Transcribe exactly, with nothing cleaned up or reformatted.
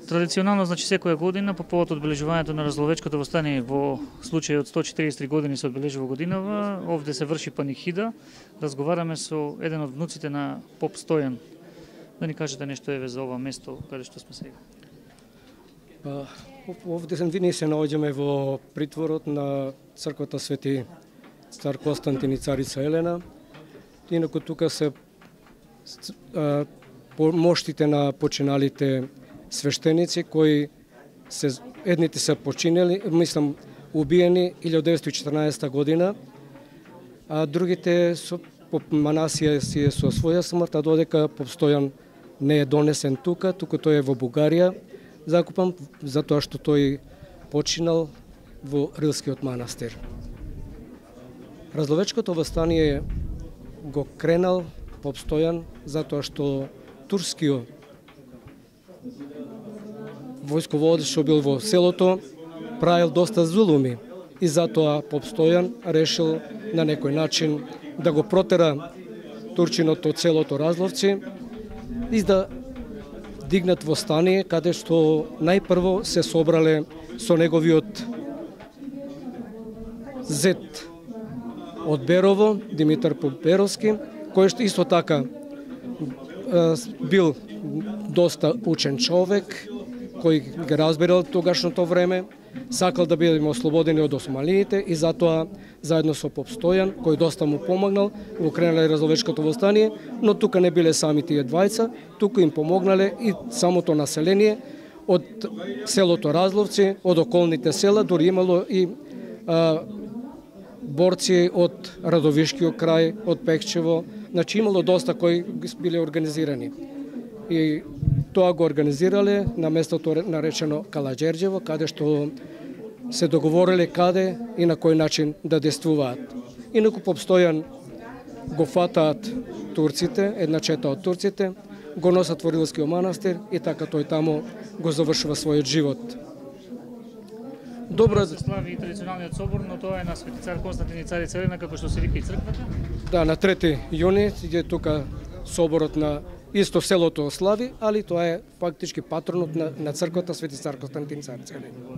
Традиционално, значи секоја година по повод одбележувањето на Разловечкото востание во случај од сто и четириесет и три години се одбележува годинава, овде се врши панихида. Разговараме со еден од внуците на поп Стојан. Да ни кажете нешто еве за ова место каде што сме сега. Па, овде ние се наоѓаме во притворот на црквата Свети Цар Константин и царица Елена. Инаку тука се а, моштите на починалите свештеници кои се едните се починели, мислам убиени илјадесетстотини и четрнаесетта година, а другите со поп Манасија си е со своја смрт, а додека поп Стојан не е донесен тука, туку тој е во Бугарија закупан, затоа што тој починал во Рилскиот манастир. Разловечкото востание го кренал поп Стојан затоа што турскиот војсководец што бил во селото правил доста зулуми и затоа поп Стојан решил на некој начин да го протера турчинот од селото Разловци и да дигнат востание каде што најпрво се собрале со неговиот зет од Берово, Димитар Поп-Беровски, кој што исто така бил доста учен човек, кој ги разбирал тогашното време, сакал да бидеме ослободени од османиите и затоа заедно со поп Стојан, кој доста му помогнал, го кренале Разловечкото востание, но тука не биле сами тие двајца, тука им помогнале и самото население од селото Разловци, од околните села, дури имало и а, борци од Радовишкиот крај, од Пекчево, значи имало доста кои биле организирани. И тоа го организирале на местото наречено Калаџерџево, каде што се договориле каде и на кој начин да действуваат. Инаку поп Стојан го фатаат турците, една чета од турците, го носат во Рилскиот манастир и така тој таму го завршува својот живот. Добро се слави и традиционалниот собор, но тоа е на Свети Цар Константин и царица Елена, како што се вика и црквата. Да, на трети јуни е тука соборот на исто селото слави, али тоа е фактички патронот на, на црквата Свети Цар Константин и царица Елена.